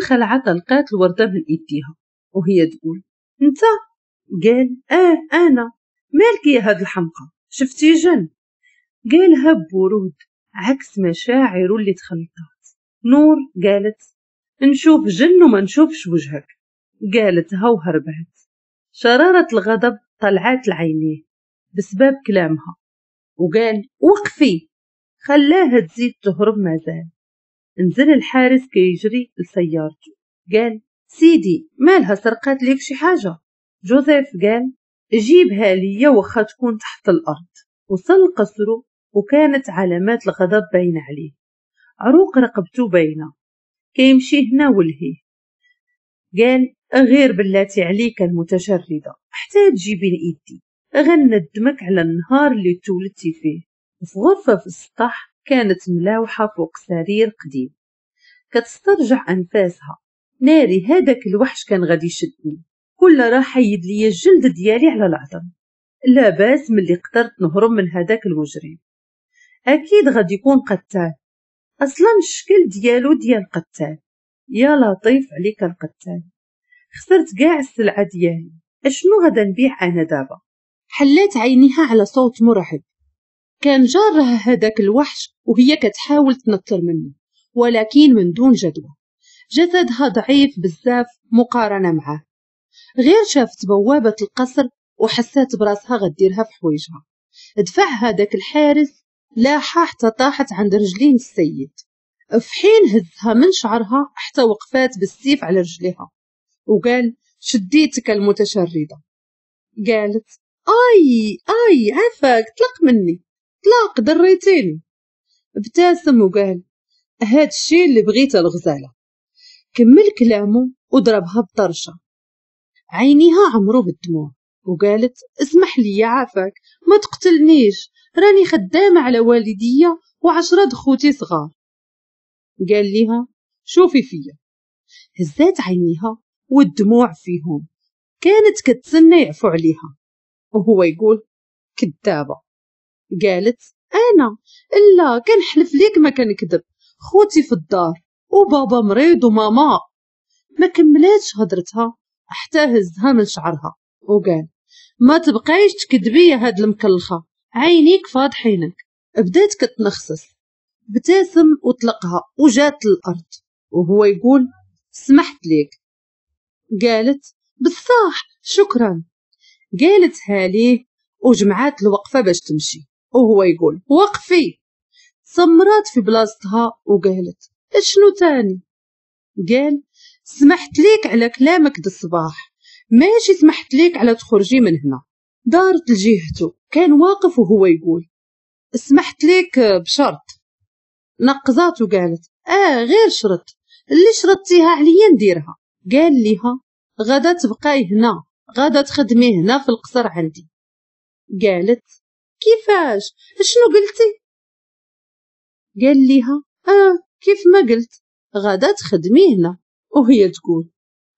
الخلعة طلقات الوردة من ايديها وهي تقول انت؟ قال اه انا. مالك يا هاد الحمقى، شفتي جن؟ قالها ببرود عكس مشاعره اللي تخلطات. نور قالت نشوف جن وما نشوفش وجهك. قالتها وهربت. شرارة الغضب طلعت لعينيه بسبب كلامها وقال وقفي، خلاها تزيد تهرب مازال. نزل الحارس كيجري لسيارته، قال سيدي مالها سرقات ليك شي حاجة؟ جوزيف قال جيبها ليا وخا تكون تحت الأرض. وصل قصره وكانت علامات الغضب باينة عليه، عروق رقبته باينة، كيمشي هنا ولهيه. قال غير بلاتي عليك المتشردة حتى تجيبين ايدي، غندمك على النهار اللي تولدتي فيه. وفي غرفة في السطح كانت ملاوحة فوق سرير قديم كتسترجع أنفاسها. ناري هذاك الوحش كان غادي يشدني، كل راه حيد لي الجلد ديالي على العظم. لا باس ملي قدرت نهرب من هذاك المجرم، اكيد غادي يكون قتال، اصلا الشكل ديالو ديال قتال. يا لطيف عليك القتال، خسرت كاع السلعة ديالي، اشنو غادا نبيع انا دابا؟ حلات عينيها على صوت مرعب، كان جارها هذاك الوحش وهي كتحاول تنطر منه ولكن من دون جدوى. جسدها ضعيف بزاف مقارنة معاه. غير شافت بوابه القصر وحسات براسها غديرها في حوايجها. دفع هذاك الحارس لاحها حتى طاحت عند رجلين السيد، في حين هزها من شعرها حتى وقفات بالسيف على رجليها وقال شديتك المتشردة. قالت اي اي عفاك طلق مني، طلق ضريتيني. ابتسم وقال هاد الشيء اللي بغيته الغزالة. كمل كلامه وضربها بطرشة، عينيها عمرو بالدموع وقالت اسمح لي يا عافاك ما تقتلنيش، راني خدامة على والدية و10 خوتي صغار. قال لها شوفي فيا. هزات عينيها والدموع فيهم، كانت كتسنى يعفو عليها وهو يقول كذابة. قالت انا لا كنحلف ليك ما كنكذب، خوتي في الدار وبابا مريض وماما. ما كملاتش هضرتها حتى هزها من شعرها وقال ما تبقايش تكذبي يا هاد المكلخه، عينيك فاضحينك. بدات كتنخسس، ابتسم وطلقها وجات للارض وهو يقول سمحت ليك. قالت بصح شكرا. قالتها ليه وجمعات الوقفة باش تمشي وهو يقول وقفي. سمرات في بلاصتها وقالت اشنو تاني؟ قال سمحت ليك على كلامك د الصباح، ماشي سمحت ليك على تخرجي من هنا. دارت لجهته، كان واقف وهو يقول سمحت ليك بشرط. نقزات وقالت غير شرط، اللي شرطتيها عليا نديرها. قال ليها غدا تبقاي هنا، غدا تخدمي هنا في القصر عندي. قالت كيفاش؟ شنو قلتي؟ قال ليها كيف ما قلت، غدا تخدمي هنا. وهي تقول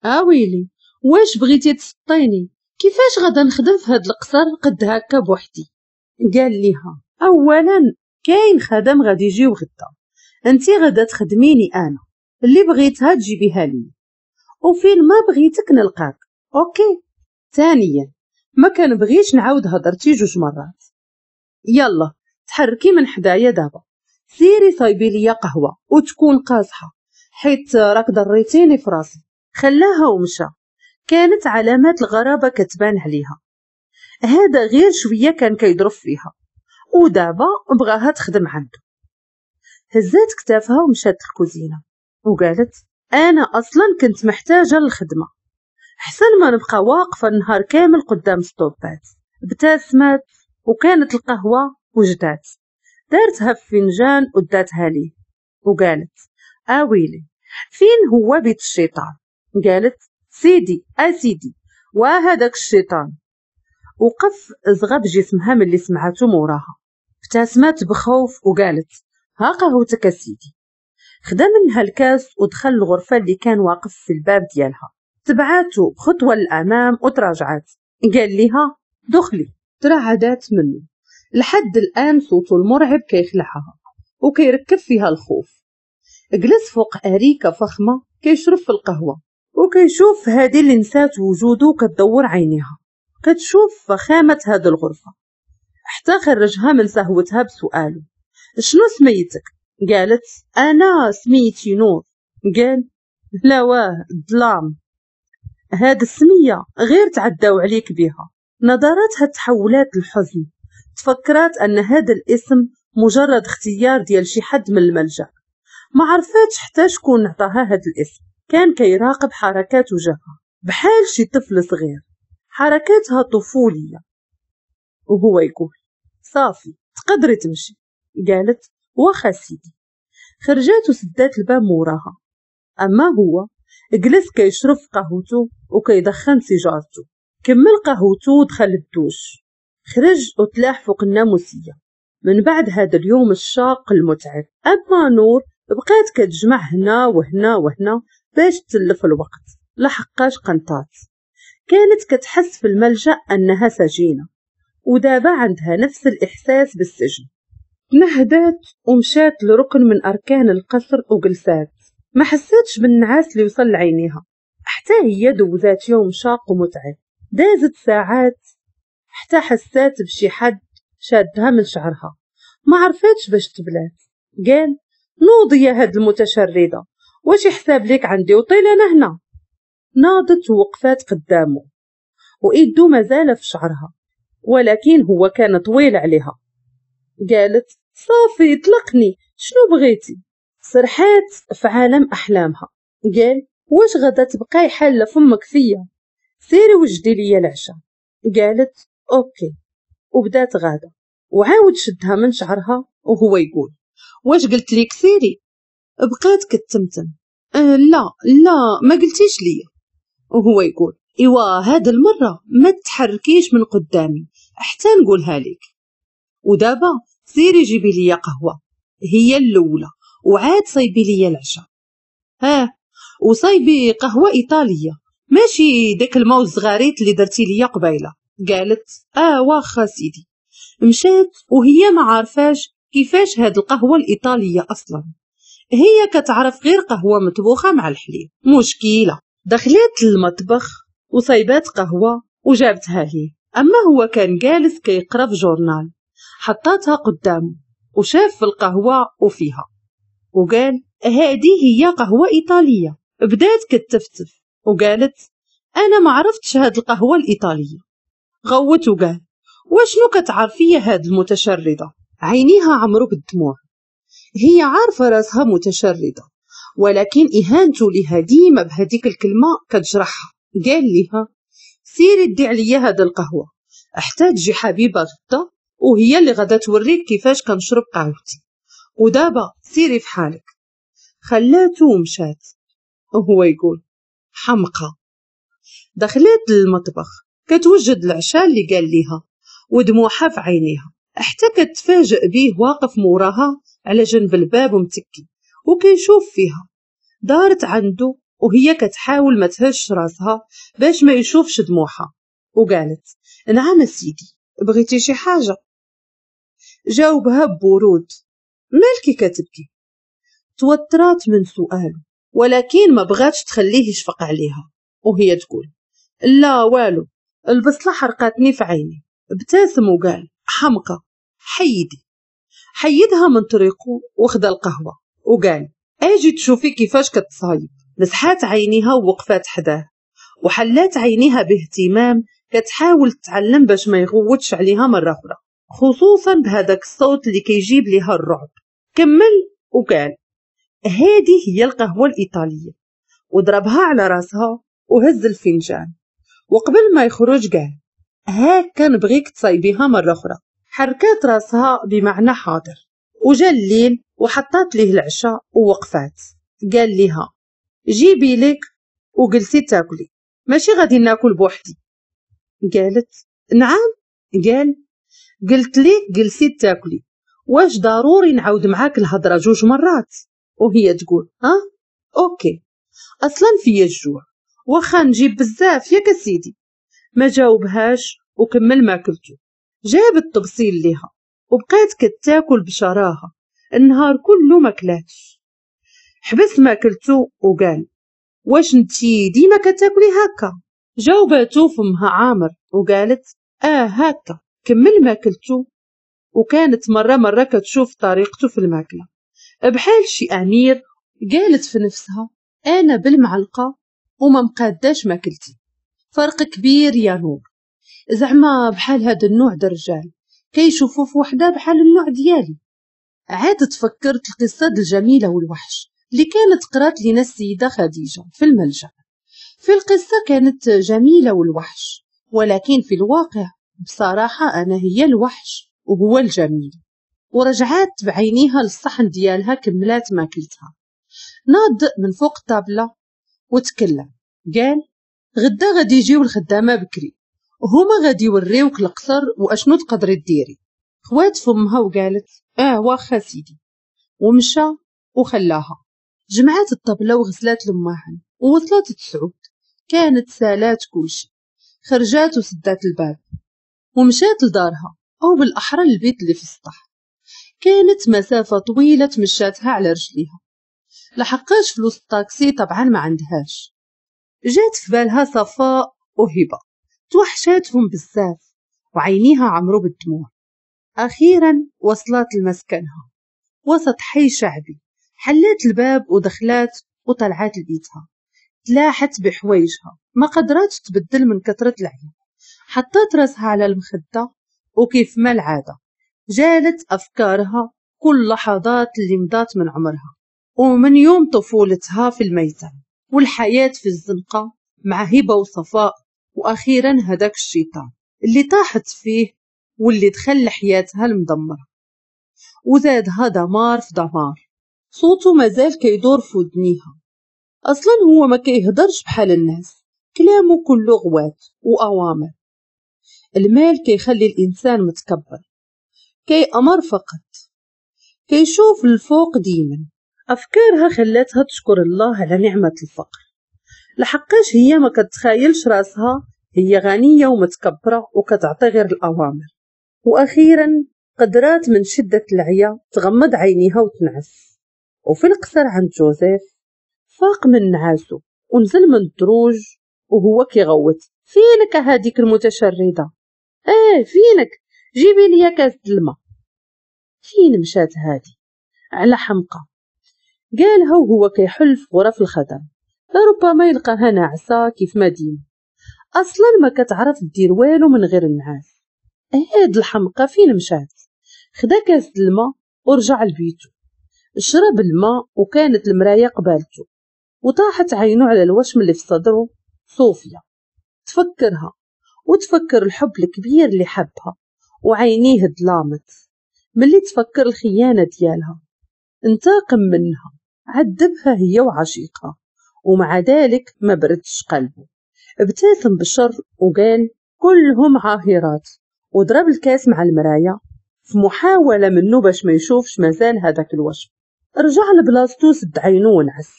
اويلي واش بغيتي تسطيني؟ كيفاش غدا نخدم في هاد القصر قد هكا بوحدي؟ قال ليها اولا كاين خدم غادي يجيو غدا، انتي غدا تخدميني انا، اللي بغيتها تجيبيها لي وفين ما بغيتك نلقاك، OK. ثانيا ما كنبغيش نعاود هضرتي 2 مرات، يلا تحركي من حدايا دابا، سيري صايبي ليا قهوة وتكون قاصحة حيت راك ضريتيني في راسي. خلاها ومشى. كانت علامات الغرابة كتبان عليها، هذا غير شوية كان كيضرب فيها ودابا بغاها تخدم عنده. هزات كتافها ومشات للكوزينه وقالت انا اصلا كنت محتاجه للخدمة، احسن ما نبقى واقفة النهار كامل قدام ستوبات. ابتسمت وكانت القهوة وجدات، دارتها في فنجان وداتها ليه وقالت اويلي فين هو بيت الشيطان؟ قالت سيدي اسيدي وهذاك الشيطان. وقف زغب جسمها من اللي سمعته موراها. ابتسمت بخوف وقالت ها قهوتك اسيدي. خدا منها الكاس ودخل الغرفة اللي كان واقف في الباب ديالها. تبعاتو خطوة للأمام وتراجعات. قال لها دخلي. ترعدات منه. لحد الآن صوته المرعب كيخلعها وكيركب فيها الخوف. جلس فوق أريكة فخمة كيشرب في القهوة وكيشوف هذه اللي نسات وجوده كتدور عينيها، كتشوف فخامة هذه الغرفة، حتى خرجها من سهوتها بسؤاله شنو سميتك؟ قالت أنا سميتي نور. قال لا واه الظلام، هاد السمية غير تعداو عليك بها. نظراتها تحولات للحزن، تفكرات أن هذا الاسم مجرد اختيار ديال شي حد من الملجأ، ما عرفاتش حتى شكون عطاها هاد الاسم. كان كيراقب حركات وجهها بحال شي طفل صغير، حركاتها طفولية، وهو يقول صافي تقدري تمشي. قالت واخا سيدي. خرجات وسدات الباب موراها. أما هو جلس كيشرب قهوته وكيدخن سيجارته. كمل قهوته ودخل الدوش، خرج وتلاح فوق الناموسية. من بعد هذا اليوم الشاق المتعب، أما نور بقات كتجمع هنا وهنا وهنا باش تلف الوقت، لحقاش قنطات. كانت كتحس في الملجأ أنها سجينة، ودابا عندها نفس الإحساس بالسجن. تنهدات ومشات لركن من أركان القصر وجلسات. ما حساتش بالنعاس اللي وصل لعينيها، حتى هي دوزات يوم شاق ومتعب. دازت ساعات حتى حسات بشي حد شادها من شعرها، ما عرفاتش باش تبلات. قال نوضي يا هاد المتشردة، واش يحساب ليك عندي وطيل أنا هنا؟ ناضت ووقفات قدامه وإيدو مازال في شعرها، ولكن هو كان طويل عليها. قالت صافي طلقني، شنو بغيتي؟ سرحات في عالم أحلامها. قال واش غدا تبقاي حالة فمك فيا؟ سيري وجدي ليا العشاء. قالت OK، وبدات غاده. وعاود شدها من شعرها وهو يقول واش قلت ليك سيري؟ بقات كتمتم لا لا ما قلتيش ليا. وهو يقول ايوا هاد المرة ما تحركيش من قدامي حتى نقولها لك، ودابا سيري جيبي ليا قهوة هي الاولى، وعاد صايبي ليا العشاء. ها وصايبي قهوة ايطالية ماشي داك الماء الزغاريت اللي درتي ليا قبيلة. قالت واخا سيدي. مشات وهي ما عارفاش كيفاش هاد القهوة الايطالية اصلا، هي كتعرف غير قهوة مطبوخه مع الحليب. مشكلة. دخلت للمطبخ وصايبات قهوة وجابتها ليه. اما هو كان جالس كيقرا في journal، حطاتها قدامه وشاف في القهوة وفيها وقال هذه هي قهوة ايطالية. بدات كتفتف وقالت انا ما عرفتش هاد القهوة الايطالية. غوت وقال وشنو كتعرفي هاد المتشرده؟ عينيها عمرو بالدموع. هي عارفه راسها متشرده، ولكن اهانته لها ديما بهذيك الكلمة كتجرحها. قال لها سيري دي عليا هاد القهوة حتى تجي حبيبه غدا، وهي اللي غدا توريك كيفاش كنشرب قهوتي، ودابا سيري في حالك. خلاته ومشات وهو يقول حمقى. دخلت للمطبخ كتوجد العشاء اللي قال ليها ودموعها في عينيها، حتى كتفاجئ بيه واقف موراها على جنب الباب ومتكي وكيشوف فيها. دارت عنده وهي كتحاول ما تهش راسها باش ما يشوفش دموعها، وقالت نعم سيدي بغيتي شي حاجة؟ جاوبها ببرود مالكي كتبكي؟ توترات من سؤاله، ولكن ما بغاتش تخليه يشفق عليها، وهي تقول لا والو البصلة حرقتني في عيني. ابتسم وقال حمقى حيدي. حيدها من طريقه وخدا القهوة وقال اجي تشوفي كيفاش كتصايب. مسحات عينيها ووقفات حداه وحلات عينيها باهتمام كتحاول تتعلم باش ما يغوتش عليها مرة أخرى، خصوصا بهذاك الصوت اللي كيجيب ليها الرعب. كمل وقال هذه هي القهوة الإيطالية، وضربها على راسها وهز الفنجان، وقبل ما يخرج قال هاكا نبغيك تصايبيها مرة أخرى. حركات راسها بمعنى حاضر. وجا الليل وحطات ليه العشاء ووقفات. قال لها جيبي لك وجلسي تاكلي، ماشي غادي ناكل بوحدي. قالت نعم. قال قلت لك جلسي تاكلي، واش ضروري نعاود معاك الهضرة جوج مرات؟ وهي تقول ها OK اصلا فيا الجوع واخا نجيب بزاف ياك سيدي. ما جاوبهاش وكمل ماكلته. جاب التبصيل ليها وبقات كتاكل بشراهه النهار كله ما كلاتش. حبس ماكلته وقال واش انتي ديما كتاكلي هكا؟ جاوباتو فمها عامر وقالت اه هكا. كمل ماكلتو، وكانت مرة مرة كتشوف طريقته في الماكلة بحال شي أمير. قالت في نفسها أنا بالمعلقة وما مقاداش ماكلتي، فرق كبير يا نور. زعما بحال هذا النوع د الرجال كيشوفوا في وحده بحال النوع ديالي. عاد تفكرت القصة د الجميلة والوحش اللي كانت قرات لنا السيدة خديجة في الملجأ. في القصة كانت جميلة والوحش، ولكن في الواقع بصراحة أنا هي الوحش وهو الجميل. ورجعات بعينيها للصحن ديالها، كملات ماكلتها. ناض من فوق الطابلة وتكلم، قال غدا غادي يجيو الخدامة بكري، هما غادي يوريوك القصر واشنو تقدري ديري. خوات فمها وقالت اه واخا سيدي، ومشى وخلاها. جمعات الطبلة وغسلات الماعن ووصلت 9، كانت سالات كلشي. خرجات وسدات الباب ومشات لدارها، او بالاحرى البيت اللي في السطح. كانت مسافة طويلة تمشاتها على رجليها، لحقاش فلوس الطاكسي طبعا ما عندهاش. جات في بالها صفاء وهبة، توحشاتهم بزاف وعينيها عمرو بالدموع. أخيرا وصلت لمسكنها وسط حي شعبي. حلات الباب ودخلات وطلعات لبيتها، تلاحت بحوايجها ما قدراتش تبدل من كثرة العيا. حطت راسها على المخدة وكيف ما العادة جالت أفكارها كل لحظات اللي مضات من عمرها ومن يوم طفولتها في الميتم والحياة في الزنقة مع هبة وصفاء، وأخيرا هداك الشيطان اللي طاحت فيه واللي دخل لحياتها المدمرة وزادها دمار في دمار. صوته مازال كيدور في ودنيها، أصلا هو ما كيهدرش بحال الناس، كلامه كله غوات وأوامر. المال كيخلي الإنسان متكبر، كيأمر فقط، كيشوف الفوق ديما. أفكارها خلاتها تشكر الله على نعمة الفقر، لحقاش هي ما كتخايلش راسها هي غنية ومتكبرة وكتعطي غير الأوامر. وأخيرا قدرات من شدة العيا تغمض عينيها وتنعس. وفي القصر عند جوزيف فاق من نعاسو ونزل من الدروج وهو كيغوت فينك هاديك المتشردة؟ ايه فينك، جيبي لي كاس الماء. فين مشات هادي على حمقى؟ قالها وهو كيحل في غرف الخدم، لربما يلقاها ناعسة كيف ما ديما، اصلا ما كتعرف دير والو من غير النعاس. هاد الحمقى فين مشات؟ خدا كاس الماء ورجع لبيتو، شرب الماء وكانت المراية قبالته، وطاحت عينه على الوشم اللي في صدره صوفيا. تفكرها وتفكر الحب الكبير اللي حبها، وعينيه ظلامت ملي تفكر الخيانة ديالها. انتقم منها، عذبها هي وعشيقها، ومع ذلك ما بردش قلبه. ابتسم بشر وقال كلهم عاهرات، وضرب الكاس مع المراية في محاولة منه باش ما يشوفش مازال هذاك الوشم. رجع لبلاصتو، سد عينو ونعس.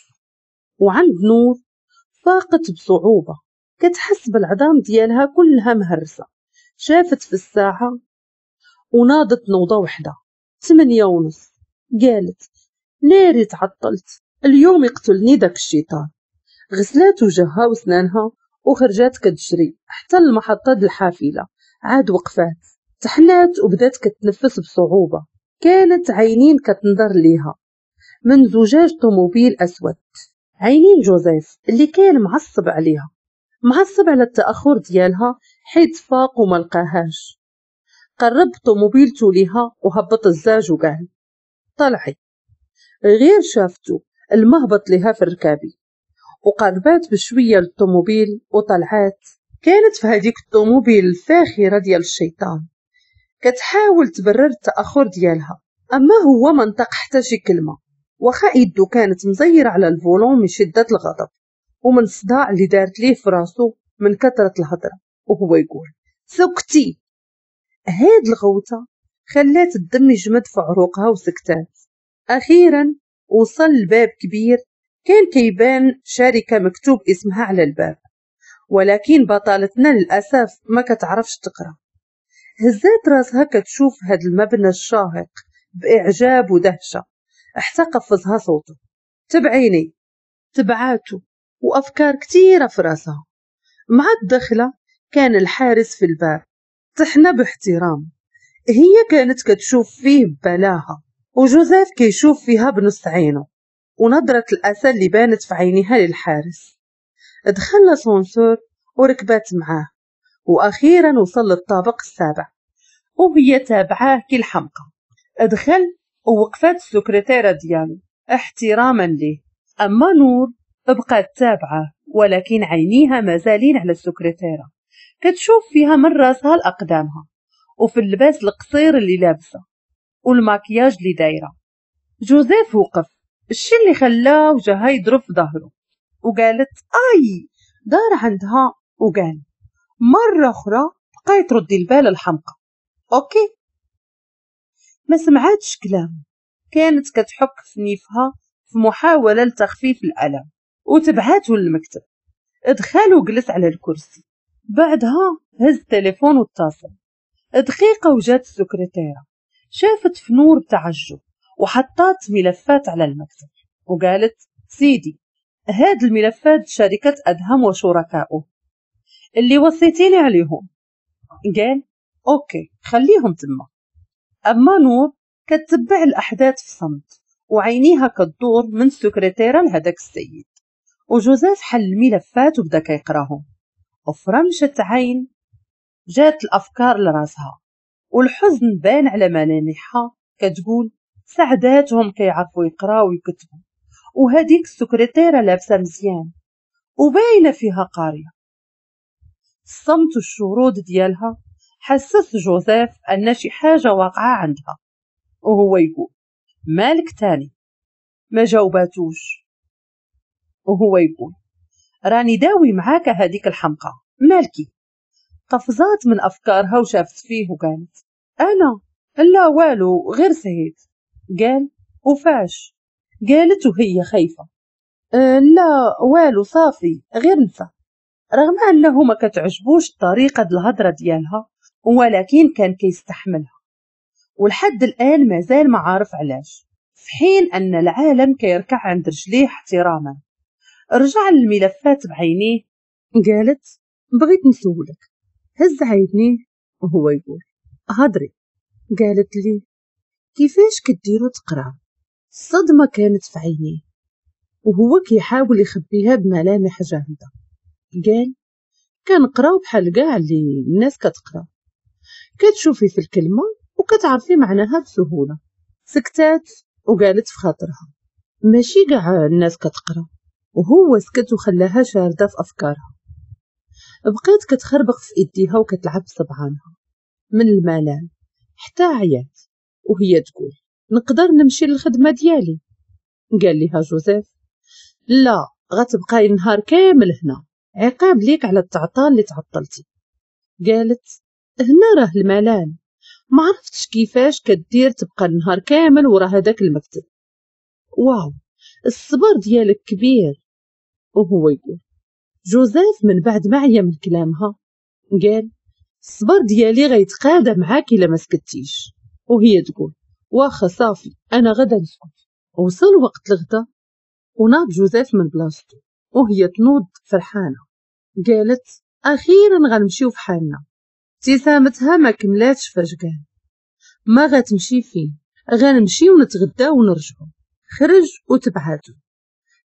وعند نور فاقت بصعوبة، كتحس بالعظام ديالها كلها مهرسة. شافت في الساعة وناضت نوضة وحدة 8:30. قالت ناري تعطلت، اليوم يقتلني داك الشيطان. غسلات وجهها وسنانها وخرجات كتجري حتى المحطة د الحافلة. عاد وقفات، تحنات وبدات كتنفس بصعوبة. كانت عينين كتنظر ليها من زجاج طوموبيل أسود، عينين جوزيف اللي كان معصب عليها، معصب على التأخر ديالها حيت فاق وما لقاهاش. قرب طوموبيلته ليها وهبط الزاج وقال طلعي. غير شافتو المهبط لها في الركابي، وقربات بشوية للطوموبيل وطلعات. كانت في هذيك الطوموبيل الفاخرة ديال الشيطان كتحاول تبرر التأخر ديالها، أما هو ما نطق حتى شي كلمة، واخا يدو كانت مزيرة على ال volant من شدة الغضب ومن الصداع اللي دارت ليه في راسو من كثرة الهضرة، وهو يقول سكتي. هاد الغوتة خلات الدم يجمد في عروقها وسكتات. أخيرا وصل لباب كبير كان كيبان شركة مكتوب اسمها على الباب، ولكن بطلتنا للأسف ما كتعرفش تقرأ. هزات راسها كتشوف هاد المبنى الشاهق بإعجاب ودهشة حتى قفزها صوته تبعيني. تبعاتو وأفكار كتيرة في راسها. مع الدخلة كان الحارس في الباب، تحنى باحترام. هي كانت كتشوف فيه ببلاهة وجوزيف كيشوف فيها بنص عينه ونظرة الأسى اللي بانت في عينها للحارس. دخل l'ascenseur وركبات معاه، وأخيرا وصل للطابق السابع وهي تابعاه كي الحمقى. دخل ووقفات السكرتيرة ديالو احتراما ليه. أما نور بقات تابعه، ولكن عينيها مازالين على السكرتيرة، كتشوف فيها من راسها لأقدامها وفي اللباس القصير اللي لابسه والماكياج اللي دايرة. جوزيف وقف، الشي اللي خلاه وجهها يضرب في ظهره، وقالت اي. دار عندها وقال مرة أخرى بقاي تردي البال الحمقى، OK. ما سمعتش كلام، كانت كتحك في نيفها في محاولة لتخفيف الألم، وتبعته للمكتب. دخل وجلس على الكرسي، بعدها هز التليفون واتصل. دقيقة وجات السكرتيرة، شافت في نور بتعجب وحطات ملفات على المكتب وقالت سيدي هاد الملفات شركة أدهم وشركائه اللي وصيتيني عليهم. قال OK خليهم تما. أما نور كتبع الأحداث في صمت وعينيها كتدور من السكرتيرة لهداك السيد. وجوزيف حل الملفات وبدا كيقراهم، وفرمشة عين جات الأفكار لراسها والحزن بان على ملامحها، كتقول سعداتهم كيعرفوا يقراو ويكتبوا، وهذيك السكرتيرة لابسة مزيان وباينة فيها قارية. الصمت والشرود ديالها حسس جوزيف أن شي حاجة واقعة عندها، وهو يقول مالك تاني؟ ما جاوباتوش، وهو يقول راني داوي معاك هذيك الحمقى، مالكي؟ قفزات من أفكارها وشافت فيه وقالت أنا لا والو غير سهيت. قال وفاش؟ قالت وهي خايفة لا والو صافي غير نسى. رغم أنه ما كتعجبوش طريقة الهضرة ديالها، ولكن كان كيستحملها، ولحد الآن مازال ما عارف علاش، في حين أن العالم كيركع عند رجليه احتراما. رجع للملفات بعينيه، قالت بغيت نسولك. هز عينيه وهو يقول هضري. قالت لي كيفاش كديروا تقرا؟ الصدمة كانت في عينيه وهو كيحاول يخبيها بملامح جامدة. قال كنقراو بحال كاع اللي الناس كتقرا، كتشوفي في الكلمة وكتعرفي معناها بسهولة. سكتات وقالت في خاطرها ماشي كاع الناس كتقرا. وهو سكت وخلاها شاردة في أفكارها. بقيت كتخربق في إيديها وكتلعب بصبعانها من الملل حتى عيات، وهي تقول نقدر نمشي للخدمة ديالي؟ قال لها جوزيف لا، غتبقاي النهار كامل هنا، عقاب ليك على التعطال اللي تعطلتي. قالت هنا راه الملال، ما عرفتش كيفاش كدير تبقى النهار كامل ورا هذاك المكتب. واو الصبر ديالك كبير. وهو يقول جوزيف من بعد ما عيا من كلامها قال الصبر ديالي غيتقادى معاك الا ما سكتيش. وهي تقول واخا صافي انا غدا نسكت. وصل وقت الغدا وناض جوزيف من بلاصتو وهي تنوض فرحانة. قالت اخيرا غنمشيو في حالنا. ابتسامتها ما كملاتش فاش قال ما غتمشي فين، غنمشيو ونتغداو ونرجعو. خرج وتبعاتو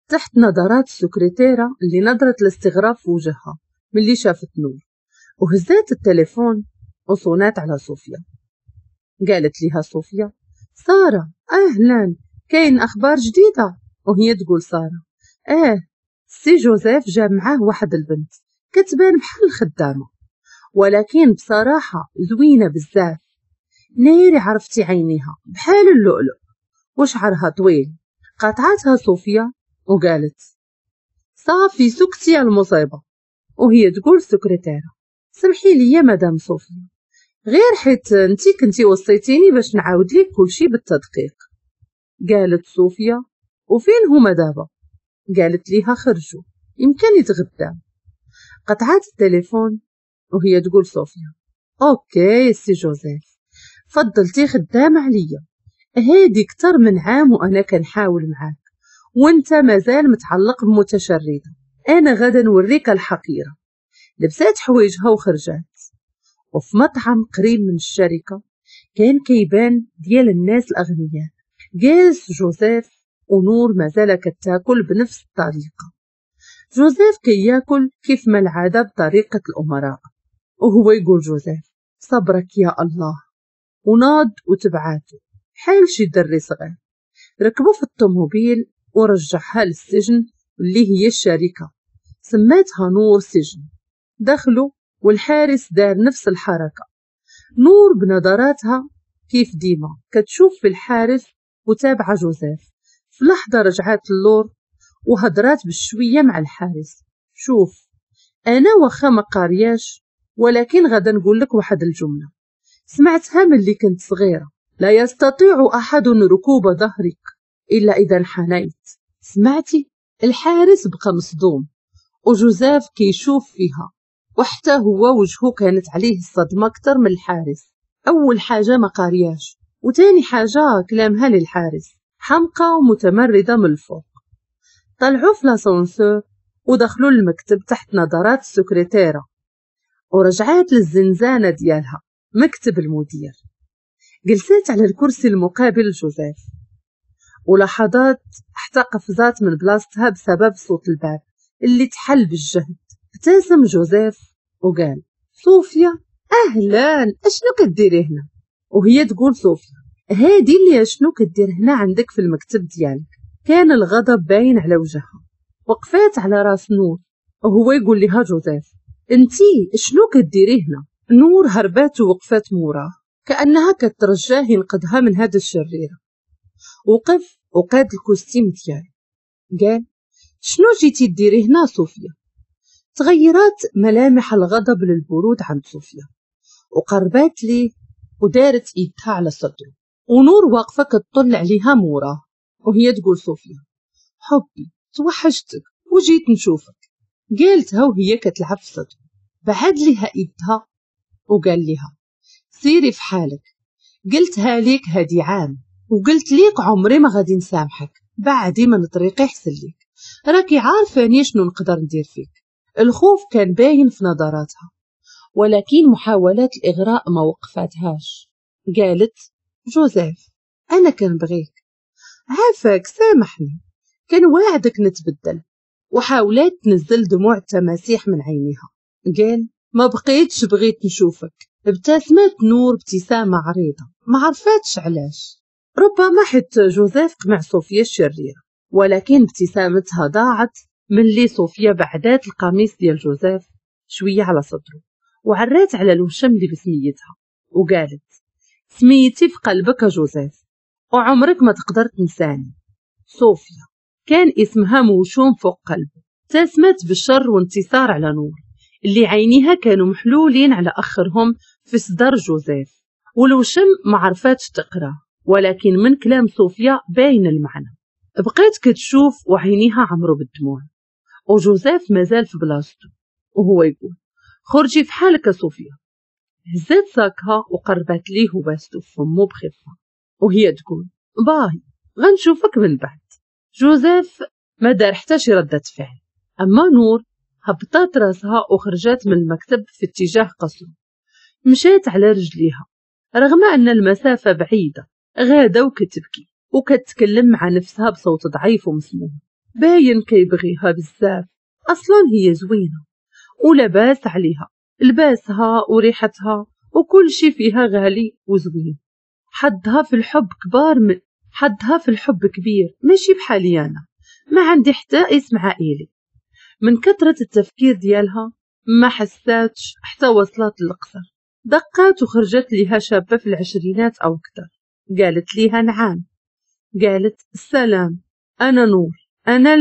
تحت نظرات السكرتيرة اللي نظرت الاستغراب في وجهها ملي شافت نور، وهزات التليفون وصونات على صوفيا. قالت لها صوفيا سارة أهلا، كاين أخبار جديدة؟ وهي تقول سارة سي جوزيف جاب معاه واحد البنت كتبان بحال الخدامة، ولكن بصراحة زوينة بزاف، نيري عرفتي عينيها بحال اللؤلؤ وشعرها طويل. قاطعتها صوفيا وقالت صافي سكتي يا المصيبة. وهي تقول سكرتيرة سمحي لي يا مدام صوفيا، غير حيت انتي كنتي وصيتيني باش نعاود لك كلشي بالتدقيق. قالت صوفيا وفين هما دابا؟ قالت ليها خرجوا يمكن يتغداو. قطعت التليفون وهي تقول صوفيا OK سي جوزيف فضلتي خدامة عليا، هادي كتر من عام وانا كنحاول معاك وانت مازال متعلق بمتشردة. انا غادا نوريك الحقيرة. لبسات حوايجها وخرجات. وفي مطعم قريب من الشركة كان كيبان ديال الناس الاغنياء، جالس جوزيف ونور مازال كتاكل بنفس الطريقة. جوزيف كياكل كيف ما العادة بطريقة الأمراء، وهو يقول جوزيف صبرك يا الله، وناض وتبعاته حال شي دري صغير. ركبوا في الطوموبيل ورجعها للسجن اللي هي الشركة، سماتها نور سجن. دخلوا والحارس دار نفس الحركة. نور بنظراتها كيف ديما كتشوف في الحارس وتابعة جوزيف. في لحظة رجعات اللور وهضرات بالشوية مع الحارس، شوف أنا واخا ما قارياش ولكن غادا نقول لك واحد الجملة سمعتها ملي كنت صغيرة، لا يستطيع أحد ركوب ظهرك إلا إذا انحنيت. سمعتي؟ الحارس بقى مصدوم وجوزيف كيشوف فيها، وحتى هو وجهه كانت عليه الصدمة أكثر من الحارس. أول حاجة ما قارياش، وتاني حاجة كلامها للحارس، حمقى ومتمردة من الفوق. طلعوا في l'ascenseur ودخلوا للمكتب تحت نظرات السكرتيرة، ورجعات للزنزانة ديالها مكتب المدير. جلست على الكرسي المقابل لجوزيف، ولحظات حتى قفزات من بلاصتها بسبب صوت الباب اللي تحل بالجهد. ابتسم جوزيف وقال صوفيا اهلا، اشنو كديري هنا؟ وهي تقول صوفيا هادي اللي اشنو كدير هنا عندك في المكتب ديالك؟ كان الغضب باين على وجهها. وقفات على راس نور وهو يقول لها جوزيف انتي شنو كديري هنا؟ نور هربات ووقفات موراه كأنها كترجاه ينقذها من هذا الشريرة. وقف وقاد ال costume ديالو، قال شنو جيتي ديري هنا صوفيا؟ تغيرات ملامح الغضب للبرود عند صوفيا، وقربات ليه ودارت ايدها على صدره، ونور واقفة كتطل عليها موراه وهي تقول صوفيا حبي توحشتك وجيت نشوفك. قالتها وهي كتلعب في صدره. بعد لها ايدها وقال لها سيري في حالك، قلتها ليك هادي عام وقلت ليك عمري ما غادي نسامحك، بعدي من طريقي حسن ليك، راكي عارفاني شنو نقدر ندير فيك. الخوف كان باين في نظراتها، ولكن محاولات الإغراء ما وقفتهاش. قالت جوزيف أنا كنبغيك، عافاك سامحني، كنواعدك نتبدل. وحاولات تنزل دموع التماسيح من عينيها. قال ما بقيتش بغيت نشوفك. ابتسمت نور ابتسامة عريضة ما عرفاتش علاش، ربما حيت جوزيف قمع صوفيا الشريرة، ولكن ابتسامتها ضاعت ملي صوفيا بعدات القميص ديال جوزيف شوية على صدره وعرات على الوشم اللي بسميتها وقالت سميتي في قلبك جوزيف وعمرك ما تقدر تنساني. صوفيا كان اسمها موشوم فوق قلبه. ابتسمت بالشر وانتصار على نور اللي عينيها كانوا محلولين على أخرهم في صدر جوزيف، والوشم ما عرفاتش تقرا، ولكن من كلام صوفيا باين المعنى. بقات كتشوف وعينيها عمرو بالدموع، وجوزيف مازال في بلاصتو وهو يقول خرجي في حالك صوفيا. هزات ساكها وقربت ليه وباستو في فمو بخفة وهي تقول باي غنشوفك من بعد. جوزيف ما دار حتى شي ردة فعل. أما نور هبطات راسها وخرجت من المكتب في اتجاه قصره. مشات على رجليها رغم أن المسافة بعيدة، غادة وكتبكي وكتكلم مع نفسها بصوت ضعيف ومسموع. باين كيبغيها بزاف، أصلا هي زوينة ولباس عليها، لباسها وريحتها وكل شي فيها غالي وزوين. حدها في الحب كبار، حدها في الحب كبير، ماشي بحالي أنا ما عندي حتى اسم عائلي. من كثرة التفكير ديالها ما حساتش حتى وصلت للقصر. دقات وخرجت ليها شابة في العشرينات أو أكثر. قالت ليها نعم. قالت السلام أنا نور، أنا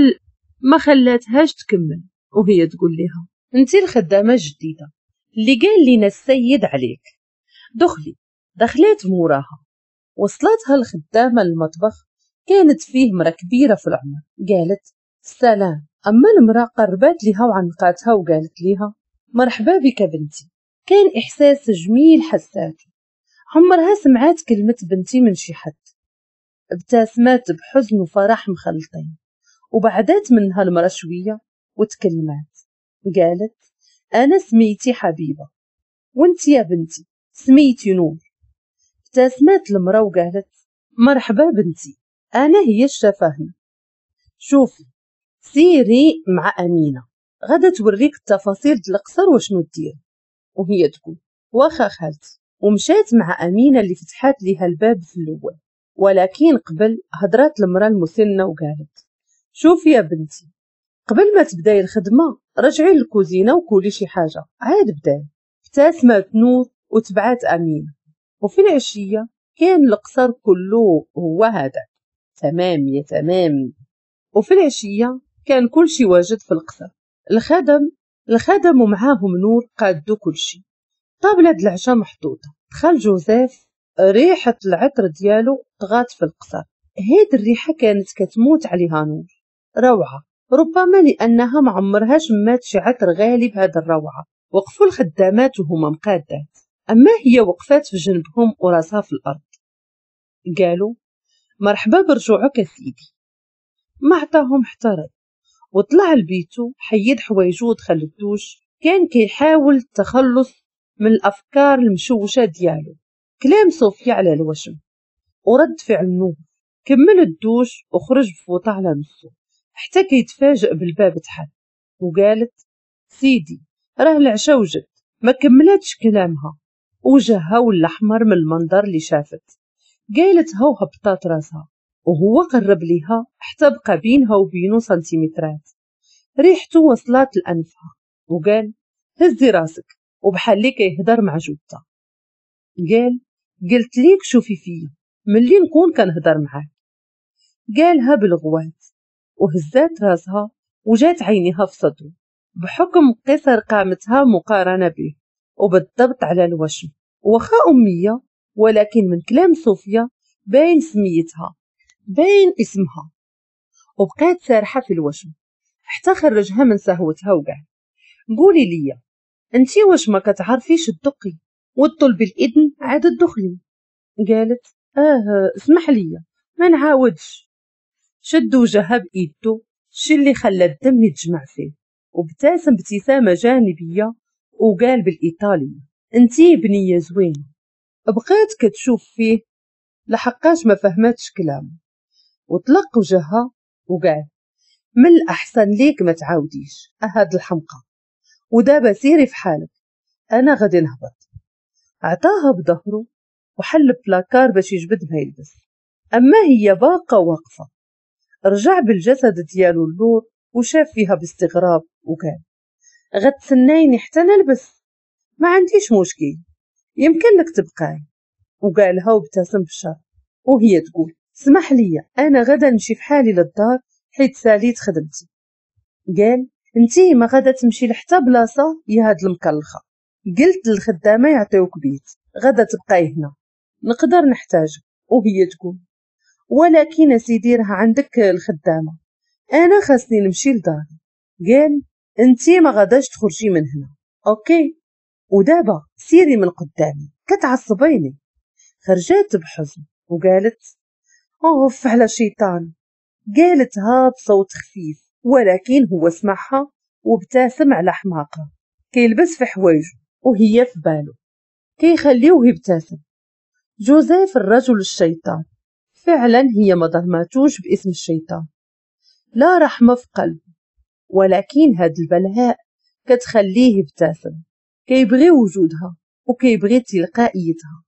ما خلاتهاش تكمل وهي تقول لها انتي الخدامة الجديدة اللي قال لنا السيد عليك، دخلي. دخلت موراها. وصلتها الخدامة للمطبخ، كانت فيه مرة كبيرة في العمر. قالت السلام. أما المرأة قربت لها وعنقاتها وقالت لها مرحبا بك بنتي. كان إحساس جميل حساته، عمرها سمعت كلمة بنتي من شي حد. ابتسمت بحزن وفرح مخلطين، وبعدت منها المرأة شوية وتكلمات، قالت انا سميتي حبيبه وانت يا بنتي سميتي نور. ابتسمت المرأة وقالت مرحبا بنتي، انا هي الشافة هنا. شوفي سيري مع امينه غادا توريك التفاصيل ديال القصر وشنو دير. وهي تقول واخا خالتي، ومشات مع امينه اللي فتحات ليها الباب في الاول. ولكن قبل هضرات المراة المسنة وقالت شوفي يا بنتي، قبل ما تبداي الخدمة رجعي للكوزينه وكولي شي حاجة عاد بداي. ابتسمت نور وتبعات امينه. وفي العشية كان القصر كله هو هذا تمام يا تمام. وفي العشية كان كل شي واجد في القصر، الخدم ومعاهم نور قادوا كل شي. طابلة العشاء محطوطة. دخل جوزيف، ريحة العطر ديالو طغات في القصر. هاد الريحة كانت كتموت عليها نور، روعة، ربما لأنها ما عمرها شمات شي عطر غالي بهاد الروعة. وقفوا الخدامات وهما مقادات، أما هي وقفات في جنبهم وراسها في الأرض. قالوا مرحبا برجوعك يا سيدي. ما عطاهم حتى رد، وطلع لبيتو حيد حوايجو ودخل الدوش. كان كيحاول التخلص من الأفكار المشوشة ديالو، كلام صوفيا على الوشم ورد فعل نور. كمل الدوش وخرج بفوطة على نصو حتى كيتفاجئ بالباب تحل، وقالت سيدي راه العشا وجد. ما كملتش كلامها، وجهها ولا احمر من المنظر اللي شافت. قالتها وهبطات راسها، وهو قرب ليها حتى بقى بينها وبينه سنتيمترات. ريحته وصلت لأنفها وقال هزي راسك، وبحال اللي كيهضر مع جوته. قال قلت ليك شوفي فيا ملي نكون كنهضر معاك. قالها بالغوات وهزات راسها وجات عينيها في صدره بحكم قصر قامتها مقارنة به وبالضبط على الوشم. وخا أمية، ولكن من كلام صوفيا باين سميتها باين اسمها. وبقات سارحة في الوشم حتى خرجها من سهوتها وقال قولي لي انتي واش ما كتعرفيش تدقي وتطلبي الإذن عاد تدخلي؟ قالت اسمح لي ما نعاودش. شد وجهها بإيدو، الشي اللي خلى الدم يتجمع فيه، وابتسم ابتسامة جانبية وقال بالإيطالية انتي بنية زوينة. بقات كتشوف فيه لحقاش ما فهمتش كلامه، وطلق وجهها وقال من الأحسن ليك ما تعاوديش أهاد الحمقى، ودابا سيري في حالك أنا غادي نهبط. عطاها بظهره وحل بلاكار باش يجبد ما يلبس، أما هي باقة واقفة. رجع بالجسد ديالو اللور وشاف فيها باستغراب وقال غتسنايني حتى نلبس، ما عنديش مشكل يمكن لك تبقاي. وقالها وابتسم بالشر. وهي تقول اسمح لي انا غدا نمشي في حالي للدار حيت ساليت خدمتي. قال انتي ما غادا تمشي لحتى بلاصة يا هاد المكلخه، قلت للخدامه يعطيوك بيت غدا تبقاي هنا نقدر نحتاجك. وهي تقول ولكن سيدي راه عندك الخدامة انا خاصني نمشي لداري. قال انتي ما غاداش تخرجي من هنا okay، ودابا سيري من قدامي كتعصبيني. خرجات بحزن وقالت اوف على شيطان. قالتها بصوت خفيف ولكن هو سمعها وابتسم على حماقها. كيلبس في حوايجه وهي في باله كيخليوه يبتسم. جوزيف الرجل الشيطان فعلا هي ما ظلماتوش باسم الشيطان، لا رحمة في قلبه، ولكن هاد البلهاء كتخليه يبتسم. كيبغي وجودها وكيبغي تلقائيتها.